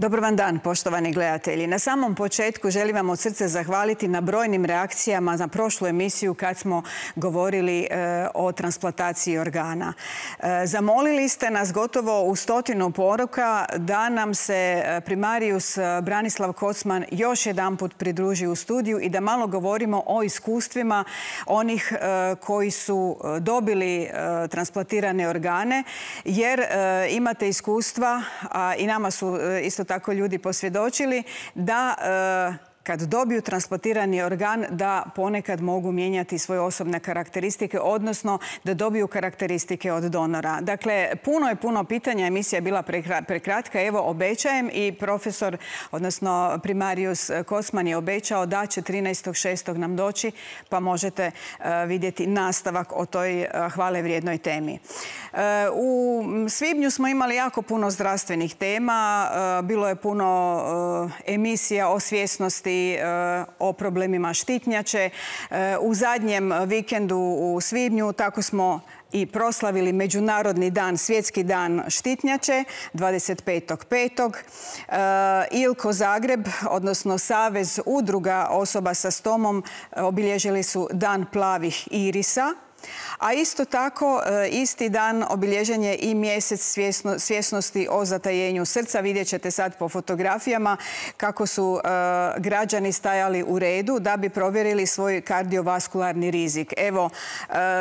Dobar vam dan, poštovani gledatelji. Na samom početku želim vam od srca zahvaliti na brojnim reakcijama na prošlu emisiju kad smo govorili o transplantaciji organa. Zamolili ste nas gotovo u 100 poruka da nam se primarijus Branislav Kocman još jedanput pridruži u studiju i da malo govorimo o iskustvima onih koji su dobili transplantirane organe, jer imate iskustva, a i nama su isto tako ljudi posvjedočili da kad dobiju transplantirani organ da ponekad mogu mijenjati svoje osobne karakteristike, odnosno da dobiju karakteristike od donora. Dakle, puno pitanja, emisija je bila prekratka. Evo, obećajem i profesor, odnosno primarijus Kocman je obećao da će 13.6. nam doći, pa možete vidjeti nastavak o toj hvale vrijednoj temi. U svibnju smo imali jako puno zdravstvenih tema, bilo je puno emisija o svjesnosti, o problemima štitnjače. U zadnjem vikendu u svibnju tako smo i proslavili Međunarodni dan, Svjetski dan štitnjače, 25.5. ILKO Zagreb, odnosno Savez udruga osoba sa stomom, obilježili su Dan plavih irisa. A isto tako, isti dan obilježen je i mjesec svjesnosti o zatajenju srca. Vidjet ćete sad po fotografijama kako su građani stajali u redu da bi provjerili svoj kardiovaskularni rizik. Evo,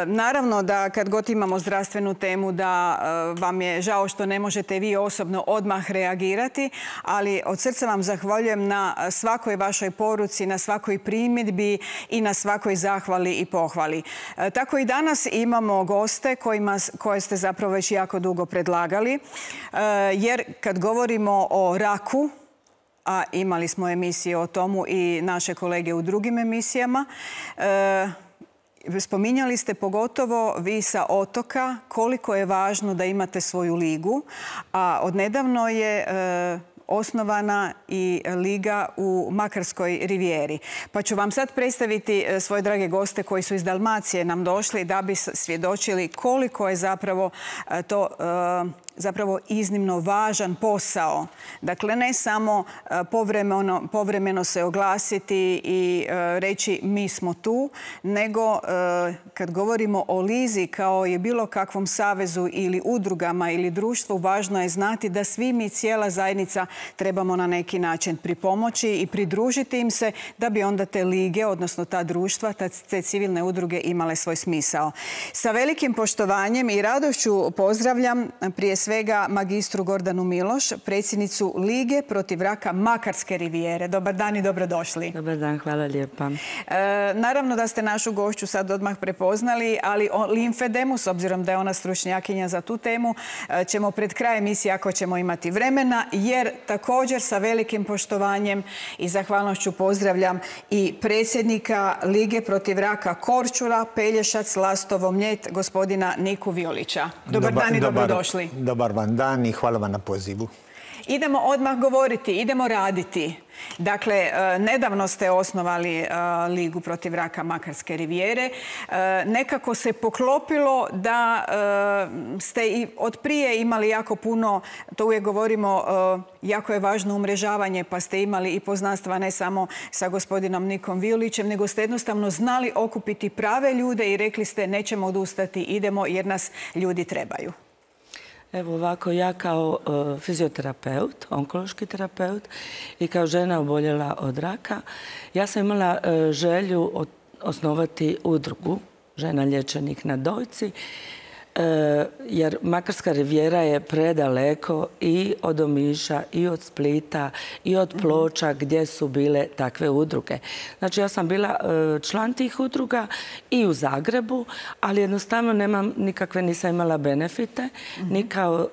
naravno da kad god imamo zdravstvenu temu da vam je žao što ne možete vi osobno odmah reagirati, ali od srca vam zahvaljujem na svakoj vašoj poruci, na svakoj primjedbi i na svakoj zahvali i pohvali. Tako i danas imamo goste koje ste zapravo već jako dugo predlagali, jer kad govorimo o raku, a imali smo emisije o tomu i naše kolege u drugim emisijama, spominjali ste pogotovo vi sa otoka koliko je važno da imate svoju ligu, a odnedavno je osnovana i liga u Makarskoj rivijeri. Pa ću vam sad predstaviti svoje drage goste koji su iz Dalmacije nam došli da bi svjedočili koliko je zapravo to iznimno važan posao. Dakle, ne samo povremeno se oglasiti i reći mi smo tu, nego kad govorimo o lizi kao i bilo kakvom savezu ili udrugama ili društvu, važno je znati da svi mi, cijela zajednica, trebamo na neki način pripomoći i pridružiti im se da bi onda te lige, odnosno ta društva, te civilne udruge imale svoj smisao. Sa velikim poštovanjem i radošću pozdravljam prije svega magistru Gordanu Miloš, predsjednicu Lige protiv raka Makarske rivijere. Dobar dan i dobrodošli. Dobar dan, hvala lijepa. Naravno da ste našu gošću sad odmah prepoznali, ali o limfedemu, s obzirom da je ona stručnjakinja za tu temu, ćemo pred kraj emisije, ako ćemo imati vremena, jer također sa velikim poštovanjem i zahvalnošću pozdravljam i predsjednika Lige protiv raka Korčula, Pelješac, Lastovo, Mljet, gospodina Niku Violića. Dobar dan i dobrodošli. Dobar vam dan i hvala vam na pozivu. Idemo odmah govoriti, idemo raditi. Dakle, nedavno ste osnovali Ligu protiv raka Makarske rivijere. Nekako se poklopilo da ste i od prije imali jako puno, to uvijek govorimo, jako je važno umrežavanje, pa ste imali i poznanstva ne samo sa gospodinom Nikom Violićem, nego ste jednostavno znali okupiti prave ljude i rekli ste nećemo odustati, idemo jer nas ljudi trebaju. Evo ovako, ja kao fizioterapeut, onkološki terapeut i kao žena oboljela od raka, ja sam imala želju osnovati udrugu žena liječenih na dojci, jer Makarska rivijera je predaleko i od Omiša, i od Splita, i od Ploča gdje su bile takve udruge. Znači, ja sam bila član tih udruga i u Zagrebu, ali jednostavno nisam imala benefite, ni kao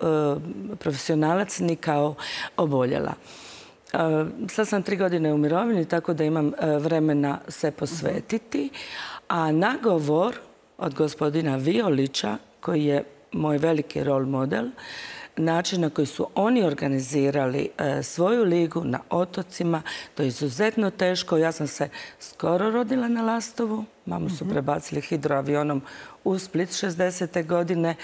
profesionalac, ni kao oboljela. Sad sam 3 godine u mirovini, tako da imam vremena se posvetiti, a nagovor od gospodina Violića, koji je moj veliki rol model, način na koji su oni organizirali svoju ligu na otocima, to je izuzetno teško. Ja sam se skoro rodila na Lastovu, Mamu su prebacili hidroavionom u Split 60. godine.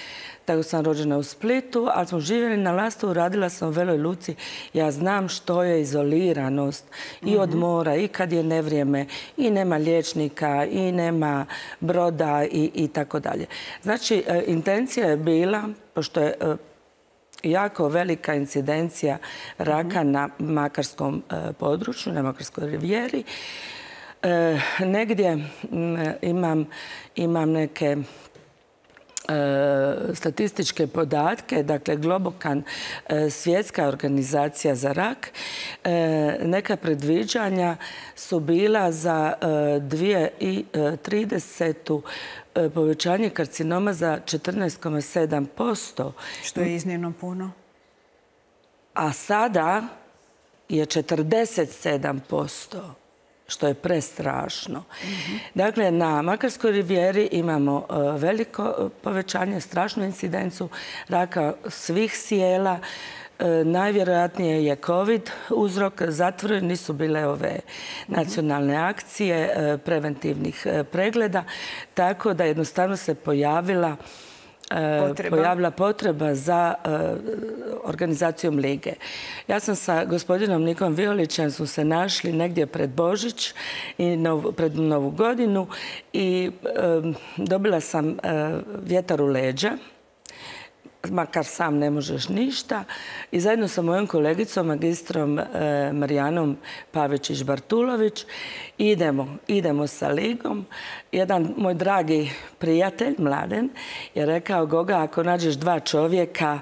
Tako sam rođena u Splitu, ali smo živjeli na Lastovu, radila sam u Veloj Luci. Ja znam što je izoliranost i od mora, i kad je nevrijeme, i nema liječnika, i nema broda i tako dalje. Znači, intencija je bila, pošto je jako velika incidencija raka na makarskom području, na Makarskoj rivijeri. Negdje imam neke statističke podatke, dakle Globokan, svjetska organizacija za rak, neka predviđanja su bila za 2030. Povećanje karcinoma za 14,7%. Što je iznimno puno. A sada je 47%. Što je prestrašno. Dakle, na Makarskoj rivijeri imamo veliko povećanje, strašnu incidenciju raka svih sijela. Najvjerojatnije je COVID uzrok. Zatvoreni su bile ove nacionalne akcije preventivnih pregleda, tako da jednostavno se pojavila potreba za organizacijom lige. Ja sam sa gospodinom Nikom Violićem smo se našli negdje pred Božić i pred Novu godinu i dobila sam vjetar u leđa, makar sam ne možeš ništa. I zajedno sa mojom kolegicom, magistrom Marijanom Pavičić-Bartulović, idemo sa ligom. Jedan moj dragi prijatelj, Mladen, je rekao: Goga, ako nađeš 2 čovjeka,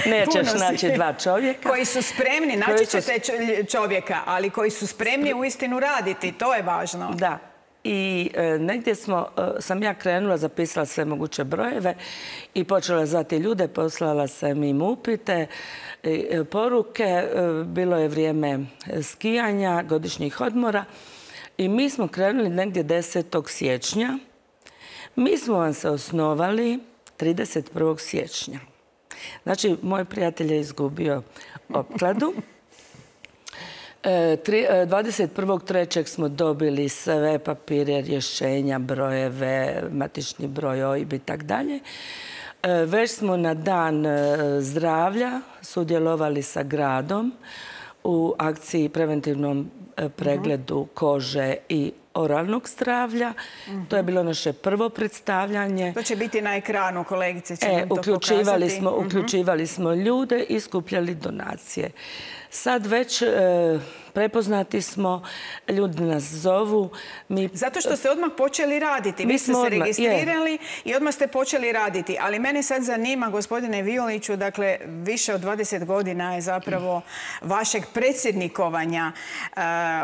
nećeš naći 2 čovjeka. Koji su spremni, naći ćete čovjeka, ali koji su spremni uistinu raditi, to je važno. Da. I negdje sam ja krenula, zapisala sve moguće brojeve i počela zvati ljude, poslala sam im upite, poruke. Bilo je vrijeme skijanja, godišnjih odmora i mi smo krenuli negdje 10. siječnja. Mi smo vam se osnovali 31. siječnja. Znači, moj prijatelj je izgubio opkladu. 21.3. smo dobili sve papire, rješenja, brojeve, matični broj, OIB i tako dalje. Već smo na dan zdravlja sudjelovali sa gradom u akciji preventivnom pregledu kože i oralnog zdravlja. To je bilo naše prvo predstavljanje. To će biti na ekranu, kolegice će nam to pokazati. Uključivali smo ljude i skupljali donacije. Sad već prepoznati smo, ljudi nas zovu. Zato što ste odmah počeli raditi. Vi ste se registrirali i odmah ste počeli raditi. Ali mene sad zanima, gospodine Violiću, dakle, više od 20 godina je zapravo vašeg predsjednikovanja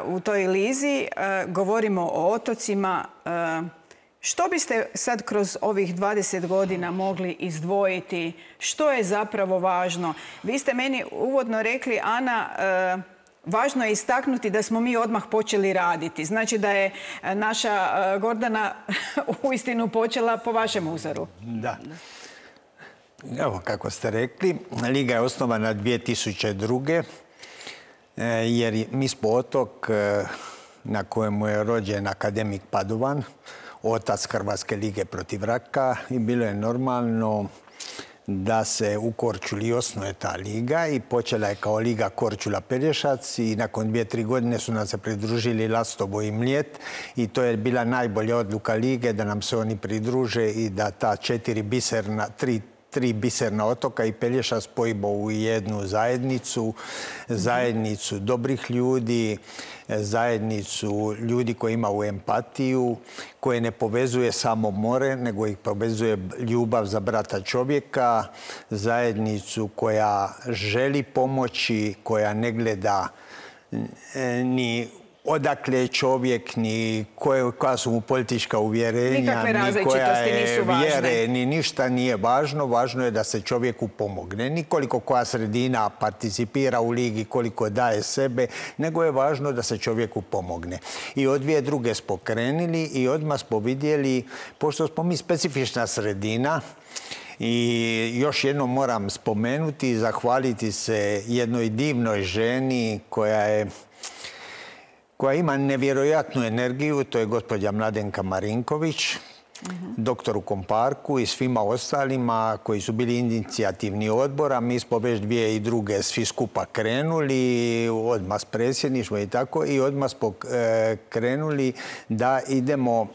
u toj lizi. Govorimo o otocima. Što biste sad kroz ovih 20 godina mogli izdvojiti? Što je zapravo važno? Vi ste meni uvodno rekli, Ana, važno je istaknuti da smo mi odmah počeli raditi. Znači da je naša Gordana uistinu počela po vašem uzoru. Da. Evo, kako ste rekli, Liga je osnovana 2002. Jer mi smo otok na kojemu je rođen akademik Padovan, otac Hrvatske lige protiv raka, i bilo je normalno da se u Korčuli osnuje ta liga i počela je kao Liga Korčula-Pelješac i nakon 2-3 godine su nam se pridružili Lastovo i Mljet i to je bila najbolja odluka lige da nam se oni pridruže i da ta 3 biserna otoka i Pelješac spojimo u jednu zajednicu dobrih ljudi, zajednicu ljudi koji imaju empatiju, koje ne povezuje samo more, nego ih povezuje ljubav za brata čovjeka, zajednicu koja želi pomoći, koja ne gleda ni odakle je čovjek, ni koja su mu politička uvjerenja, ni koja je vjere, ni ništa nije važno. Važno je da se čovjeku pomogne. Nikoliko koja sredina participira u ligi, koliko daje sebe, nego je važno da se čovjeku pomogne. I od 2002. smo krenuli i odmah smo vidjeli, pošto smo mi specifična sredina, i još jednom moram spomenuti i zahvaliti se jednoj divnoj ženi koja je koja ima nevjerojatnu energiju, to je gospođa Mladenka Marinković, doktoru Komparku i svima ostalima koji su bili inicijativni odbora. Mi smo već 2002. svi skupa krenuli, odmah s predsjedništvom i tako, i odmah smo krenuli da idemo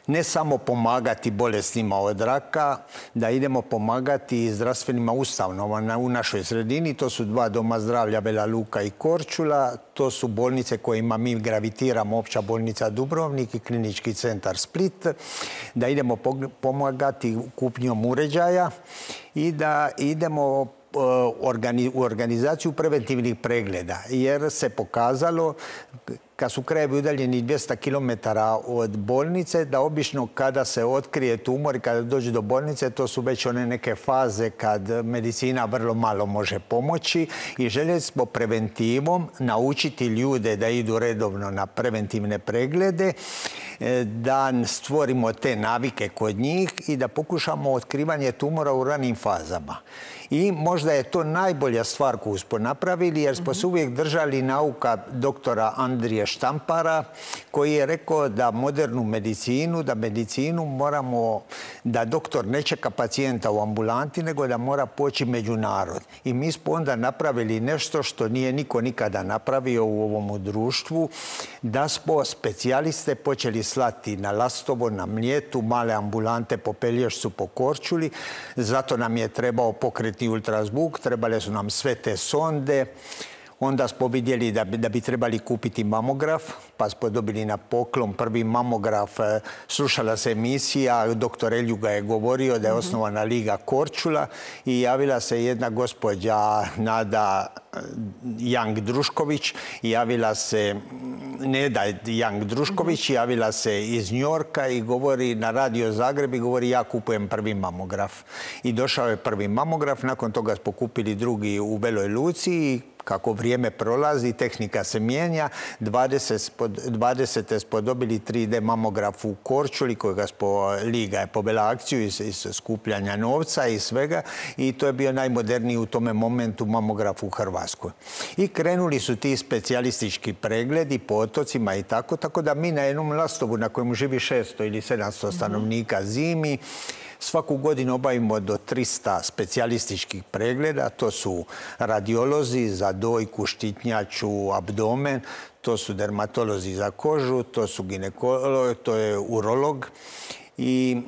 ne samo pomagati bolesnima od raka, da idemo pomagati zdravstvenima ustanovama u našoj sredini. To su 2 doma zdravlja, Vela Luka i Korčula. To su bolnice kojima mi gravitiramo, Opća bolnica Dubrovnik i Klinički centar Split. Da idemo pomagati kupnjom uređaja i da idemo u organizaciju preventivnih pregleda. Jer se pokazalo, kad su krajevi udaljeni 200 km od bolnice, da obično kada se otkrije tumor i kada dođe do bolnice, to su već one neke faze kad medicina vrlo malo može pomoći, i željeli smo preventivom naučiti ljude da idu redovno na preventivne preglede, da stvorimo te navike kod njih i da pokušamo otkrivanje tumora u ranim fazama. I možda je to najbolja stvar koju smo napravili, jer smo se uvijek držali nauka doktora Andrije Štampara, koji je rekao da modernu medicinu, da medicinu moramo, da doktor ne čeka pacijenta u ambulanti, nego da mora poći među narod. I mi smo onda napravili nešto što nije niko nikada napravio u ovom društvu, da smo specijaliste počeli slati na Lastovo, na Mljetu, male ambulante po Pelješcu, po Korčuli. Zato nam je trebao pokretni ultrazvuk, trebale su nam sve te sonde. Onda smo vidjeli da bi trebali kupiti mamograf, pa smo dobili na poklon prvi mamograf. Slušala se emisija, doktor Eljuga je govorio da je osnovana Liga Korčula i javila se jedna gospođa Nada Young-Drušković, javila se Neda Young-Drušković, javila se iz Njorka i govori na Radio Zagreb i govori: ja kupujem prvi mamograf. I došao je prvi mamograf, nakon toga smo kupili drugi u Veloj Luci i kako vrijeme prolazi, tehnika se mijenja. 20. smo dobili 3D mamograf u Korčuli, kojega Liga je povela akciju iz skupljanja novca i svega, i to je bio najmoderniji u tome momentu mamograf u Hrvatskoj. I krenuli su ti specijalistički pregledi po otocima i tako da mi na jednom Lastovu na kojemu živi 600 ili 700 stanovnika zimi, svaku godinu obavimo do 300 specijalističkih pregleda. To su radiolozi za dojku, štitnjaču, abdomen, to su dermatolozi za kožu, to su ginekolog, to je urolog. I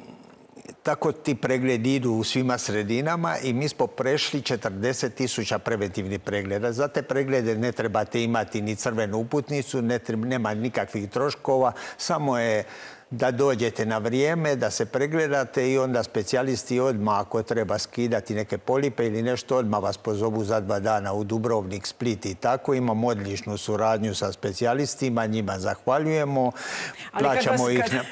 tako ti pregledi idu u svima sredinama i mi smo prešli 40.000 preventivnih pregleda. Za te preglede ne trebate imati ni crvenu uputnicu, nema nikakvih troškova, samo je da dođete na vrijeme, da se pregledate i onda specijalisti odmah, ako treba skidati neke polipe ili nešto, odmah vas pozovu za 2 dana u Dubrovnik, Split i tako. Imamo odličnu suradnju sa specijalistima, njima zahvaljujemo,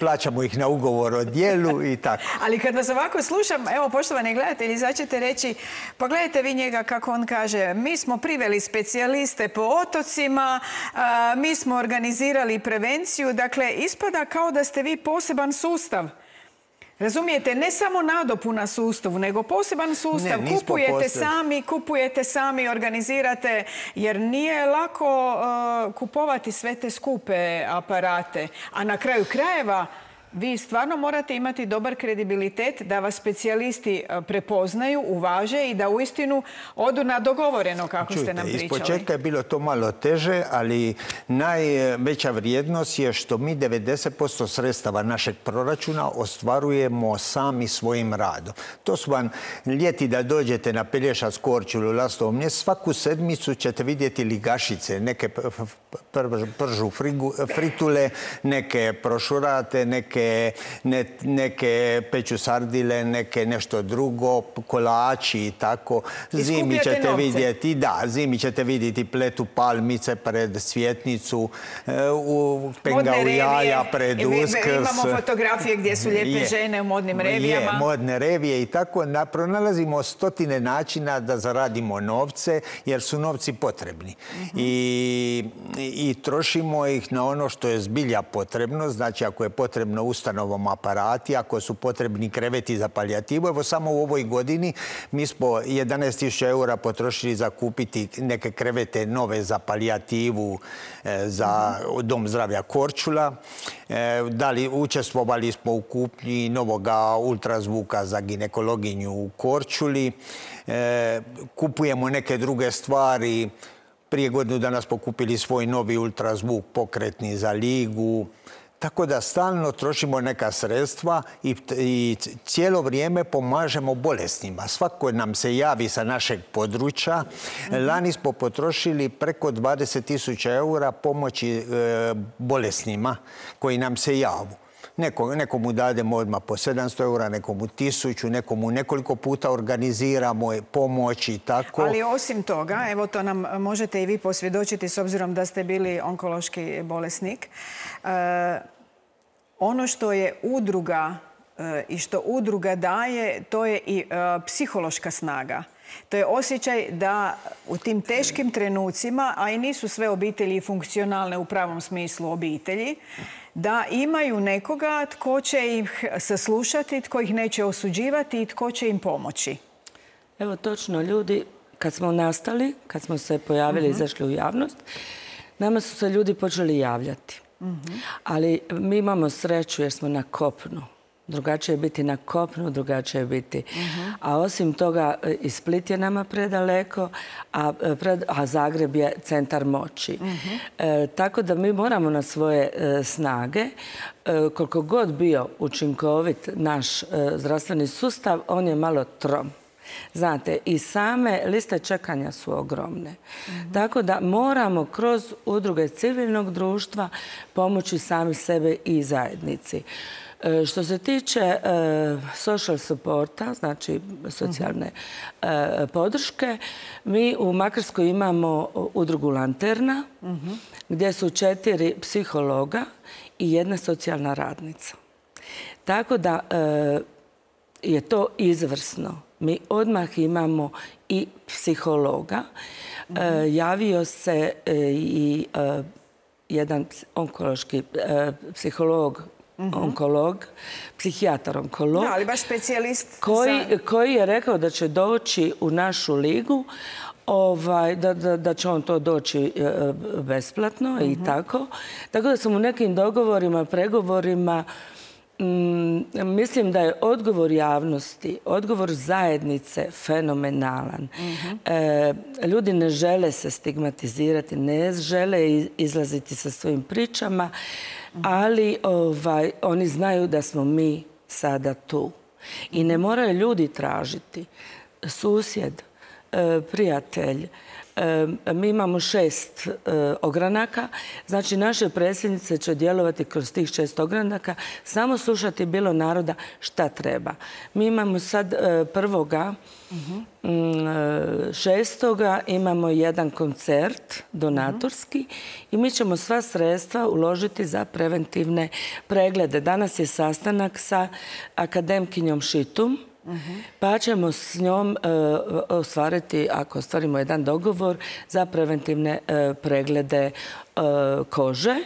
plaćamo ih na ugovor o djelu i tako. Ali kad vas ovako slušam, evo, poštovani gledatelji, sad ćete reći: pa gledajte vi njega kako on kaže, mi smo priveli specijaliste po otocima, mi smo organizirali prevenciju. Dakle, ispada kao da ste vi poseban sustav. Razumijete, ne samo nadopuna sustavu, nego poseban sustav. Kupujete sami, organizirate, jer nije lako kupovati sve te skupe aparate. A na kraju krajeva, vi stvarno morate imati dobar kredibilitet da vas specijalisti prepoznaju, uvaže i da uistinu odu na dogovoreno, kako ste nam pričali. Ispočetka je bilo to malo teže, ali najveća vrijednost je što mi 90% sredstava našeg proračuna ostvarujemo sami svojim radom. To su vam ljeti da dođete na Pelješac, Korčulu, Lastovo, Mljet, svaku sedmicu ćete vidjeti ligašice, neke pržu fritule, neke prošurate, neke peću sardile, neke nešto drugo, kolači i tako. Zimi ćete vidjeti pletu palmice pred Svjetnicu, pengao jaja pred Uskrs. Imamo fotografije gdje su lijepe žene u modnim revijama. Modne revije i tako. Pronalazimo stotine načina da zaradimo novce, jer su novci potrebni. I trošimo ih na ono što je zbilja potrebno. Znači, ako je potrebno ustanovama aparati, ako su potrebni kreveti za palijativu. Evo samo u ovoj godini mi smo 11.000 eura potrošili za kupiti neke krevete nove za palijativu za Dom zdravlja Korčula. Učestvovali smo u kupnji novoga ultrazvuka za ginekologinju u Korčuli. Kupujemo neke druge stvari. Prije godinu dana smo kupili svoj novi ultrazvuk pokretni za ligu. Tako da stalno trošimo neka sredstva i cijelo vrijeme pomažemo bolesnima. Svako nam se javi sa našeg područja. Lani smo potrošili preko 20.000 eura pomoći bolesnima koji nam se javu. Nekomu dademo odmah po 700 eura, nekomu 1000, nekomu nekoliko puta organiziramo pomoć i tako. Ali osim toga, evo to nam možete i vi posvjedočiti s obzirom da ste bili onkološki bolesnik. Ono što je udruga i što udruga daje, to je i psihološka snaga. To je osjećaj da u tim teškim trenucima, a i nisu sve obitelji funkcionalne u pravom smislu obitelji, da imaju nekoga tko će ih saslušati, tko ih neće osuđivati i tko će im pomoći. Evo točno, ljudi, kad smo nastali, kad smo se pojavili i izašli u javnost, nama su se ljudi počeli javljati. Ali mi imamo sreću jer smo na kopnu. Drugačije je biti na kopnu, drugačije je biti. A osim toga, i Split je nama predaleko, a Zagreb je centar moći. Tako da mi moramo na svoje snage, koliko god bio učinkovit naš zdravstveni sustav, on je malo trom. Znate, i same liste čekanja su ogromne. Tako da moramo kroz udruge civilnog društva pomoći sami sebe i zajednici. Što se tiče social supporta, znači socijalne podrške, mi u Makarskoj imamo udrugu Lanterna, gdje su 4 psihologa i 1 socijalna radnica. Tako da je to izvrsno. Mi odmah imamo i psihologa. Javio se i jedan onkološki psiholog, psihijatar onkolog. Da, ali baš specijalist. Koji je rekao da će doći u našu ligu, da će on to doći besplatno i tako. Tako da sam u nekim dogovorima, pregovorima, mislim da je odgovor javnosti, odgovor zajednice fenomenalan. Ljudi ne žele se stigmatizirati, ne žele izlaziti sa svojim pričama, ali oni znaju da smo mi sada tu. I ne moraju ljudi tražiti. Susjed, prijatelj, mi imamo 6 ogranaka, znači naše predsjednice će djelovati kroz tih 6 ogranaka, samo slušati bilo naroda šta treba. Mi imamo sad 1.6. imamo jedan koncert donatorski i mi ćemo sva sredstva uložiti za preventivne preglede. Danas je sastanak sa akademkinjom Šitum, pa ćemo s njom ostvariti, ako ostvarimo jedan dogovor, za preventivne preglede kože.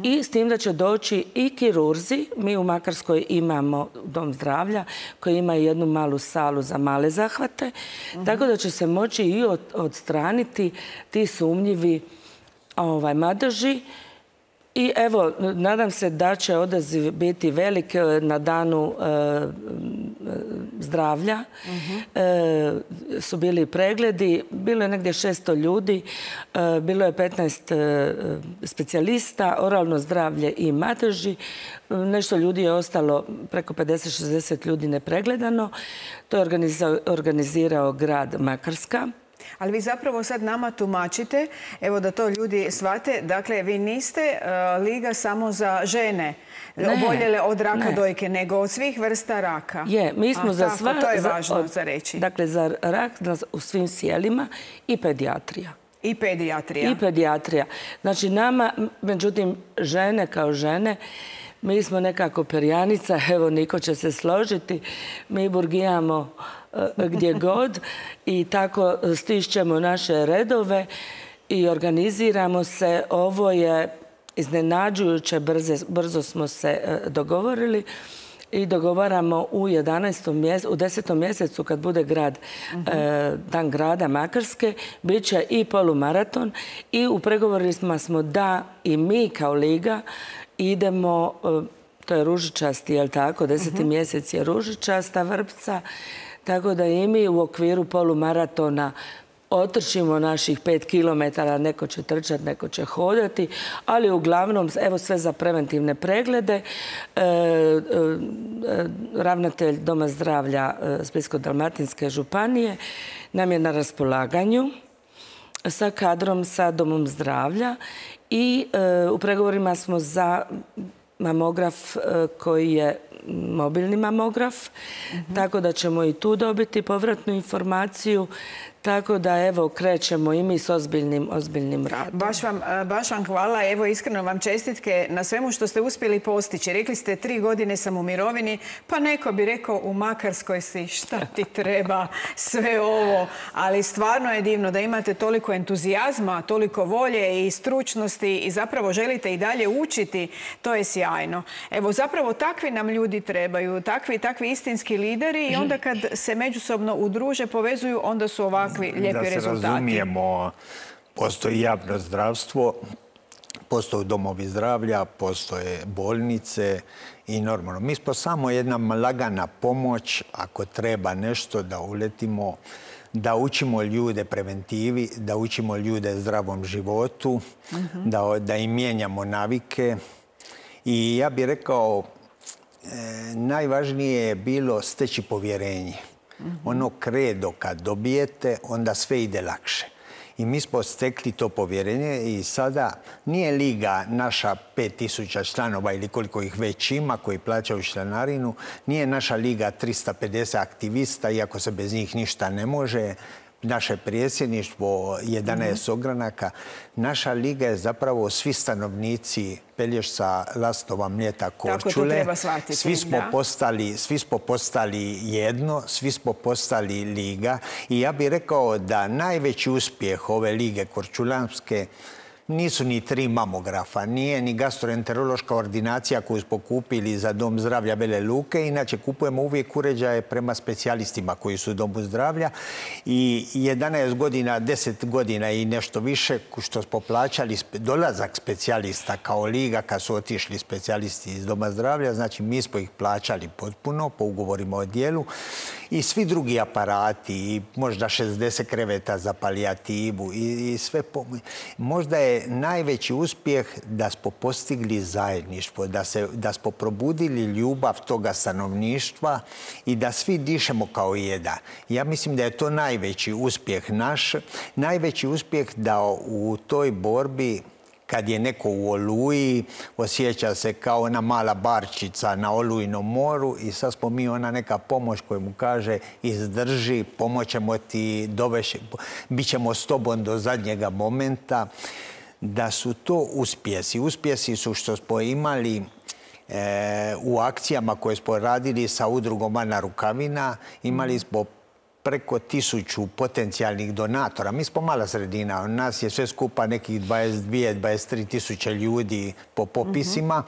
I s tim da će doći i kirurzi. Mi u Makarskoj imamo Dom zdravlja koji ima jednu malu salu za male zahvate. Tako da će se moći i odstraniti ti sumnjivi madeži. I evo, nadam se da će odaziv biti velik na danu zdravlja. Su bili pregledi, bilo je negdje 600 ljudi, bilo je 15 specijalista, oralno zdravlje i madeži. Nešto ljudi je ostalo, preko 50-60 ljudi nepregledano. To je organizirao grad Makarska. Ali vi zapravo sad nama tumačite, evo da to ljudi shvate, dakle vi niste liga samo za žene oboljele od raka dojke, nego od svih vrsta raka. Je, mi smo za sva... To je važno za reći. Dakle, za rak u svim sjelima i pedijatrija. I pedijatrija. I pedijatrija. Znači nama, međutim, žene kao žene, mi smo nekako perjanica, evo Niko će se složiti, mi burgijamo gdje god i tako stišćemo naše redove i organiziramo se. Ovo je iznenađujuće brzo smo se dogovorili i dogovaramo u 10. mjesecu kad bude Dan grada Makarske, bit će i polumaraton i u pregovorima smo da i mi kao liga idemo, to je ružičasti, jel tako, 10. mjesec je ružičasta vrpca, tako da i mi u okviru polumaratona otrčimo naših 5 kilometara, neko će trčati, neko će hodati, ali uglavnom, evo sve za preventivne preglede. Ravnatelj Doma zdravlja Splitsko-dalmatinske županije nam je na raspolaganju sa kadrom, sa Domom zdravlja i u pregovorima smo za mamograf koji je mobilni mamograf, tako da ćemo i tu dobiti povratnu informaciju. Tako da, evo, krećemo i mi s ozbiljnim radom. Baš vam hvala. Evo, iskreno vam čestitke na svemu što ste uspjeli postići. Rekli ste 3 godine sam u mirovini, pa neko bi rekao u Makarskoj si, šta ti treba sve ovo. Ali stvarno je divno da imate toliko entuzijazma, toliko volje i stručnosti i zapravo želite i dalje učiti. To je sjajno. Evo, zapravo takvi nam ljudi trebaju, takvi istinski lideri i onda kad se međusobno udruže, povezuju, onda su ovakvi lijepi rezultati. Da se razumijemo, postoji javno zdravstvo, postoje domovi zdravlja, postoje bolnice i normalno. Mi smo samo jedna lagana pomoć, ako treba nešto da uletimo, da učimo ljude preventivi, da učimo ljude zdravom životu, da im mijenjamo navike. I ja bih rekao, najvažnije je bilo steći povjerenje. Ono kredo kad dobijete, onda sve ide lakše. I mi smo stekli to povjerenje i sada nije liga naša 5000 članova ili koliko ih već ima koji plaćaju članarinu, nije naša liga 350 aktivista, iako se bez njih ništa ne može, naše predsjedništvo 11 ogranaka. Naša liga je zapravo svi stanovnici Pelješca, Lastova, Mljeta, Korčule. Svi smo postali jedno, svi smo postali liga. I ja bih rekao da najveći uspjeh ove lige korčulanske nisu ni 3 mamografa, nije ni gastroenterološka ordinacija koju smo kupili za Dom zdravlja Vele Luke. Inače, kupujemo uvijek uređaje prema specijalistima koji su u Domu zdravlja. I 11 godina, 10 godina i nešto više što smo plaćali dolazak specijalista kao liga kad su otišli specijalisti iz Doma zdravlja. Znači, mi smo ih plaćali potpuno po ugovorima o dijelu. I svi drugi aparati, i možda 60 kreveta za palijativu i sve pomoć. Možda je najveći uspjeh da smo postigli zajedništvo, da smo probudili ljubav toga stanovništva i da svi dišemo kao jedan. Ja mislim da je to najveći uspjeh naš. Najveći uspjeh da u toj borbi, kad je neko u Oluji, osjeća se kao ona mala barčica na Olujnom moru i sad smo mi ona neka pomoć koja mu kaže izdrži, pomoćemo ti, bit ćemo s tobom do zadnjega momenta. Da su to uspjesi. Uspjesi su što smo imali u akcijama koje smo radili sa udrugom Ana Rukavina. Imali smo preko 1000 potencijalnih donatora. Mi smo mala sredina. Nas je sve skupa nekih 22-23 tisuće ljudi po popisima.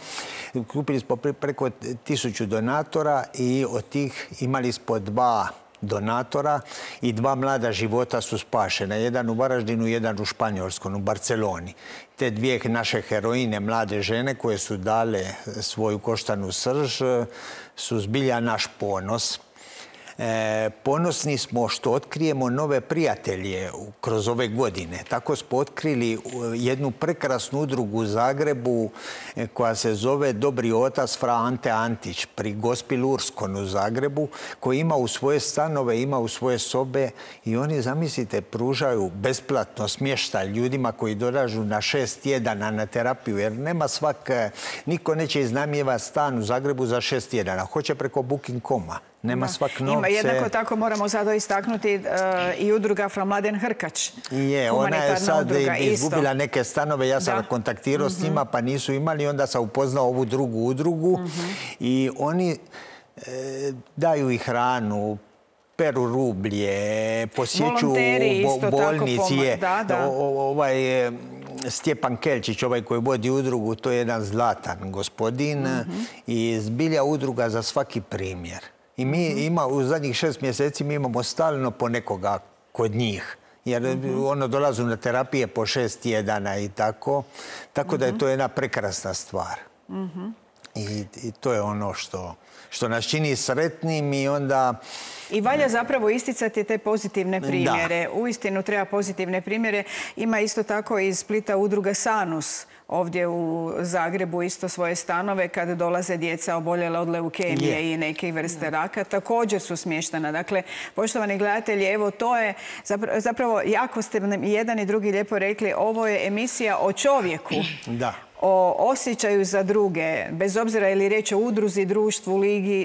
Kupili smo preko 1000 donatora i od tih imali smo 2 donatora i 2 mlada života su spašena. Jedan u Varaždinu, jedan u Španjolskom, u Barceloni. Te 2 naše heroine, mlade žene koje su dale svoju koštanu srž, su zbilja naš ponos. Ponosni smo što otkrijemo nove prijatelje kroz ove godine. Tako smo otkrili jednu prekrasnu udrugu u Zagrebu koja se zove Dobri otac Fra Ante Antić pri Gospel Urskon u Zagrebu, koji ima u svoje stanove, ima u svoje sobe i oni, zamislite, pružaju besplatno smještaj ljudima koji dolažu na 6 tjedana na terapiju, jer nema niko neće iznajmljivati stan u Zagrebu za 6 tjedana. Hoće preko Booking.com-a. Nema svak novce. Jednako tako moramo sada istaknuti i udruga Fra Mladen Hrkač. Ona je sad izgubila neke stanove. Ja sam kontaktirao s njima pa nisu imali. Onda sam upoznao ovu drugu udrugu i oni daju i hranu, peru rublje, posjeću bolnici. Stjepan Kelčić, ovaj koji vodi udrugu, to je jedan zlatan gospodin i zbilja udruga za svaki primjer. I mi u zadnjih 6 mjeseci mi imamo stalno po nekoga kod njih. Jer ono dolazu na terapije po 6 tjedana i tako. Tako da je to jedna prekrasna stvar. I to je ono što nas čini sretnim i onda... I valja zapravo isticati te pozitivne primjere. Uistinu treba pozitivne primjere. Ima isto tako iz Splita udruga Sanus. Ovdje u Zagrebu isto svoje stanove kada dolaze djeca oboljela od leukemije i neke vrste raka. Također su smještena. Dakle, poštovani gledatelji, evo to je zapravo jako ste nam i jedan i drugi lijepo rekli. Ovo je emisija o čovjeku. Da. O osjećaju za druge, bez obzira je li riječ o udruzi, društvu,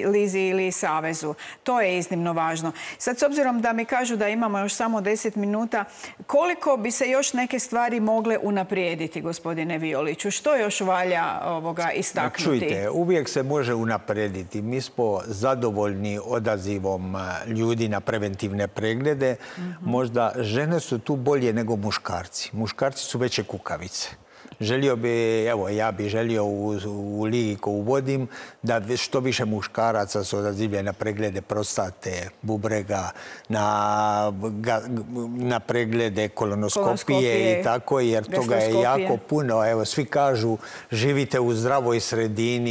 lizi ili savezu. To je iznimno važno. Sad, s obzirom da mi kažu da imamo još samo 10 minuta, koliko bi se još neke stvari mogle unaprijediti, gospodine Violiću? Što još valja istaknuti? Čujte, uvijek se može unaprijediti. Mi smo zadovoljni odazivom ljudi na preventivne preglede. Možda žene su tu bolje nego muškarci. Muškarci su veće kukavice. Želio bi, evo, ja bi želio u ligi koju vodim da što više muškaraca se odazivlja na preglede prostate, bubrega, na preglede kolonoskopije i tako, jer toga je jako puno. Evo, svi kažu živite u zdravoj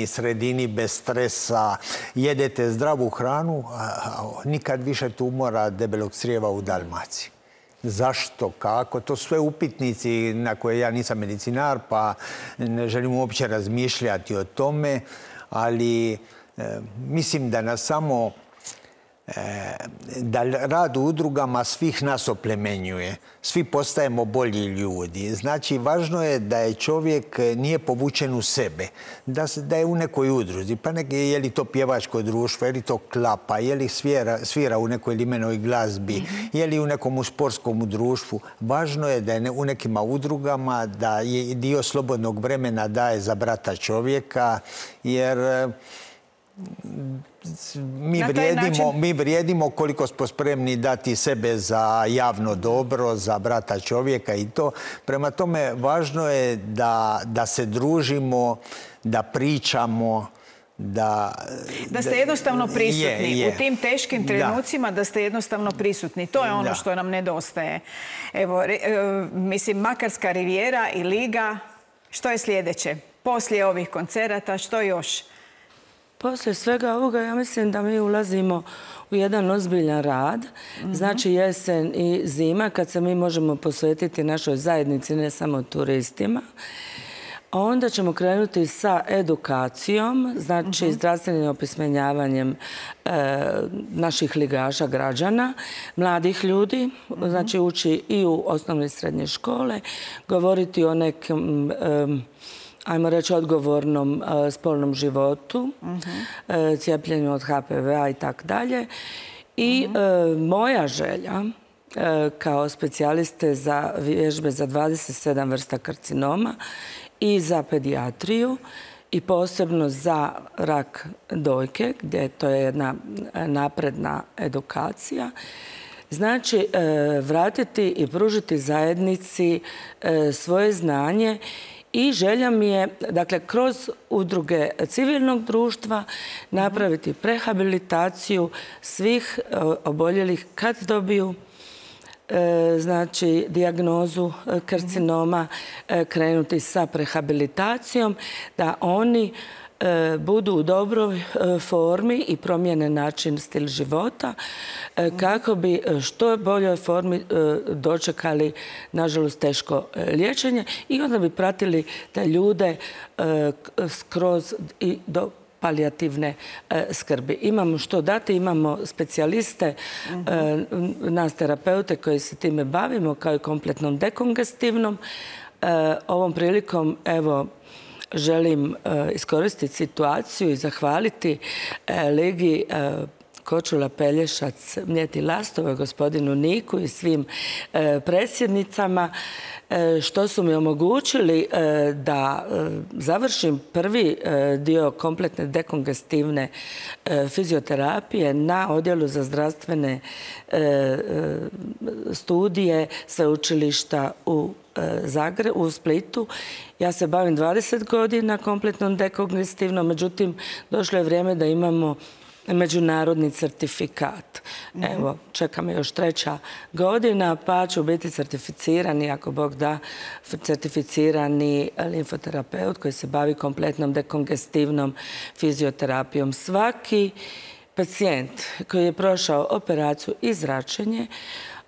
sredini bez stresa, jedete zdravu hranu, a nikad više tumora debelog crijeva u Dalmaciji. Zašto, kako, to sve upitnici na koje ja nisam medicinar, pa ne želim uopće razmišljati o tome, ali mislim da nas samo da rad u udrugama svih nas oplemenjuje. Svi postajemo bolji ljudi. Znači, važno je da je čovjek nije povučen u sebe, da je u nekoj udruzi. Pa je li to pjevačko društvo, je li to klapa, je li svira u nekoj limenoj glazbi, je li u nekom sportskom društvu. Važno je da je u nekima udrugama, da je dio slobodnog vremena daje za brata čovjeka, jer mi vrijedimo koliko smo spremni dati sebe za javno dobro, za brata čovjeka i to. Prema tome, važno je da se družimo, da pričamo, da ste jednostavno prisutni u tim teškim trenucima, da ste jednostavno prisutni. To je ono što nam nedostaje. Evo, mislim, Makarska rivijera i Liga, što je sljedeće? Poslije ovih koncerata, što još? Poslije svega ovoga, ja mislim da mi ulazimo u jedan ozbiljan rad. Znači jesen i zima, kad se mi možemo posvetiti našoj zajednici, ne samo turistima. Onda ćemo krenuti sa edukacijom, znači zdravstvenim opismenjavanjem naših ligaša, građana, mladih ljudi, znači ući i u osnovne i srednje škole, govoriti o nekim ajmo reći, odgovornom spolnom životu, cijepljenju od HPV-a i tako dalje. I moja želja kao specijaliste za vježbe za 27 vrsta karcinoma i za pedijatriju i posebno za rak dojke, gdje to je jedna napredna edukacija. Znači, vratiti i pružiti zajednici svoje znanje i želja mi je, dakle, kroz udruge civilnog društva napraviti prehabilitaciju svih oboljelih kad dobiju znači dijagnozu karcinoma, krenuti sa prehabilitacijom, da oni budu u dobroj formi i promijene način, stil života, kako bi što boljoj formi dočekali, nažalost, teško liječenje i onda bi pratili te ljude skroz i do palijativne skrbi. Imamo što dati, imamo specijaliste, nas terapeute koji se time bavimo, kao i kompletnom dekongestivnom. Ovom prilikom, evo, želim iskoristiti situaciju i zahvaliti Ligi Kočula, Pelješac, Mljeti, Lastova, gospodinu Niku i svim predsjednicama što su mi omogućili da završim prvi dio kompletne dekongestivne fizioterapije na odjelu za zdravstvene studije sveučilišta u Splitu. Ja se bavim 20 godina kompletnom dekongestivnom, međutim, došlo je vrijeme da imamo međunarodni certifikat. Evo, čeka me još 3. godina, pa ću biti certificirani, ako Bog da, certificirani limfoterapeut koji se bavi kompletnom dekongestivnom fizioterapijom. Svaki pacijent koji je prošao operaciju i zračenje,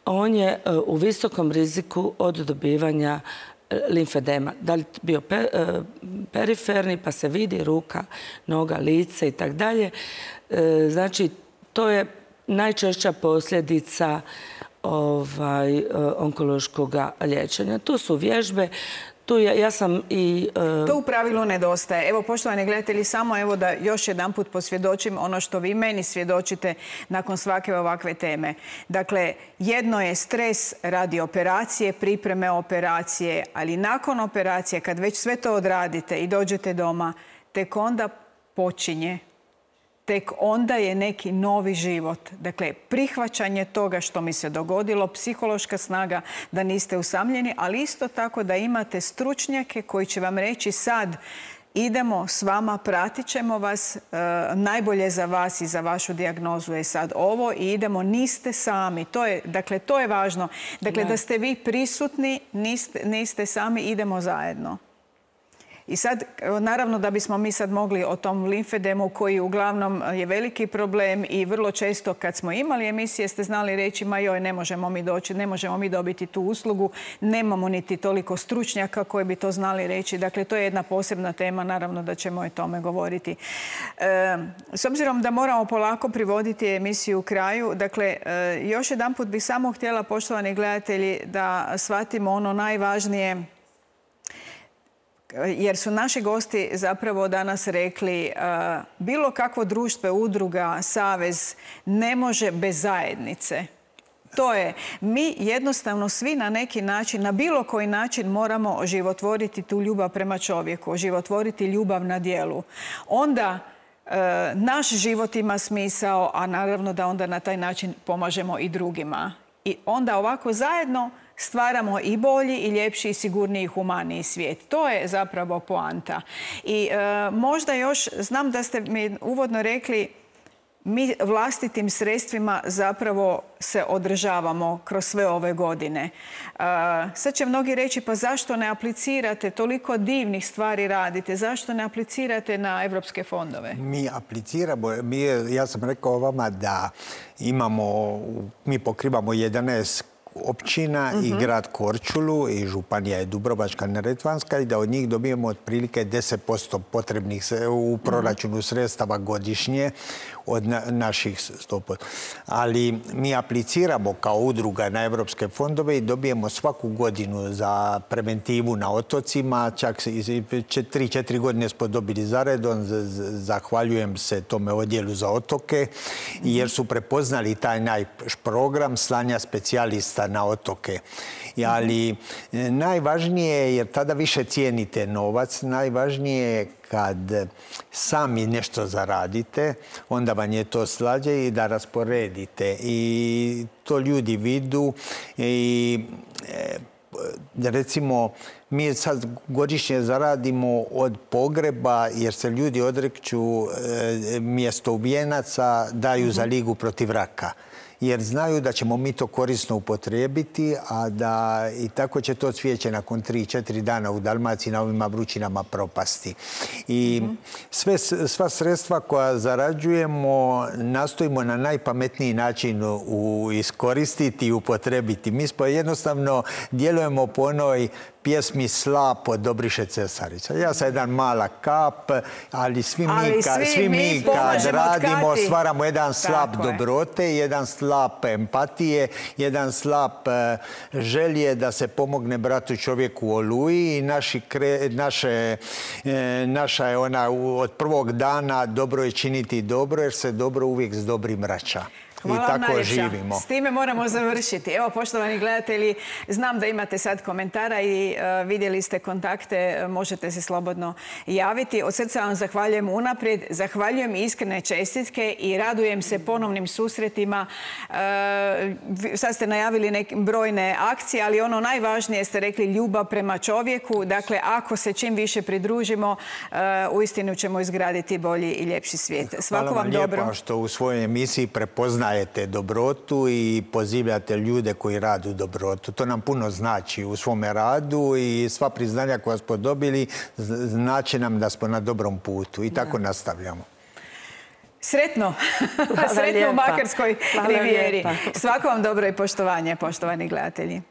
on je u visokom riziku od dobivanja limfedema. Da li bio periferni, pa se vidi ruka, noga, lice i tako dalje. Znači, to je najčešća posljedica onkološkog liječenja. Tu su vježbe, ja sam i... To u pravilu nedostaje. Evo, poštovani gledatelji, samo evo da još jedanput posvjedočim ono što vi meni svjedočite nakon svake ovakve teme. Dakle, jedno je stres radi operacije, pripreme operacije, ali nakon operacije, kad već sve to odradite i dođete doma, tek onda počinje. Tek onda je neki novi život. Dakle, prihvaćanje toga što mi se dogodilo, psihološka snaga da niste usamljeni, ali isto tako da imate stručnjake koji će vam reći sad idemo s vama, pratit ćemo vas, najbolje za vas i za vašu dijagnozu je sad ovo i idemo, niste sami. Dakle, to je važno. Dakle, da ste vi prisutni, niste sami, idemo zajedno. I sad, naravno da bismo mi sad mogli o tom limfedemu koji uglavnom je veliki problem i vrlo često kad smo imali emisije ste znali reći ma joj, ne možemo mi doći, ne možemo mi dobiti tu uslugu, nemamo niti toliko stručnjaka koji bi to znali reći. Dakle, to je jedna posebna tema, naravno da ćemo o tome govoriti. S obzirom da moramo polako privoditi emisiju u kraju, dakle, još jedanput bih samo htjela, poštovani gledatelji, da shvatimo ono najvažnije, jer su naši gosti zapravo danas rekli bilo kakvo društvo, udruga, savez ne može bez zajednice. To je, mi jednostavno svi na neki način, na bilo koji način moramo oživotvoriti tu ljubav prema čovjeku, oživotvoriti ljubav na djelu. Onda naš život ima smisao, a naravno da onda na taj način pomažemo i drugima. I onda ovako zajedno stvaramo i bolji, i ljepši, i sigurniji, i humaniji svijet. To je zapravo poanta. I možda još, znam da ste mi uvodno rekli, mi vlastitim sredstvima zapravo se održavamo kroz sve ove godine. Sad će mnogi reći, pa zašto ne aplicirate, toliko divnih stvari radite, zašto ne aplicirate na evropske fondove? Mi apliciramo, ja sam rekao vama da mi pokrivamo 11 općina i grad Korčulu i županija je Dubrovačka-neretvanska i da od njih dobijemo otprilike 10% potrebnih u proračunu sredstava godišnje od naših 100%. Ali mi apliciramo kao udruga na evropske fondove i dobijemo svaku godinu za preventivu na otocima. Čak 3-4 godine smo dobili zaredom. Zahvaljujem se tome odjelu za otoke jer su prepoznali taj naš program slanja specijalista na otoke. Ali najvažnije je, jer tada više cijenite novac, najvažnije je kad sami nešto zaradite, onda vam je to slađe i da rasporedite. I to ljudi vidu. I recimo, mi sad godišnje zaradimo od pogreba, jer se ljudi odrekću mjesto ubijenaca, daju za Ligu protiv raka. Jer znaju da ćemo mi to korisno upotrijebiti, a da i tako će to cvijeće nakon 3-4 dana u Dalmaciji na ovima vrućinama propasti. I sva sredstva koja zarađujemo nastojimo na najpametniji način iskoristiti i upotrebiti. Mi smo jednostavno djelujemo po onoj pjesmi Slap od Dobriše Cesarića. Ja sam jedan mala kap, ali svi mi kad radimo stvaramo jedan slap dobrote, jedan slap empatije, jedan slap želje da se pomogne bratu čovjeku u Oluji i naša je ona od prvog dana dobro je činiti dobro jer se dobro uvijek s dobrim vraća. I tako živimo. S time moramo završiti. Evo, poštovani gledatelji, znam da imate sad komentara i vidjeli ste kontakte, možete se slobodno javiti. Od srca vam zahvaljujem unaprijed, zahvaljujem iskrene čestitke i radujem se ponovnim susretima. Sad ste najavili brojne akcije, ali ono najvažnije ste rekli ljubav prema čovjeku. Dakle, ako se čim više pridružimo, uistinu ćemo izgraditi bolji i ljepši svijet. Svako vam dobro. Hvala vam lijepo što u svojoj emisiji prepoznajete dobrotu i pozivate ljude koji radu dobrotu. To nam puno znači u svome radu i sva priznanja koja smo dobili znači nam da smo na dobrom putu i tako nastavljamo. Sretno! Sretno u Makarskoj rivijeri. Svako vam dobro i poštovanje, poštovani gledatelji.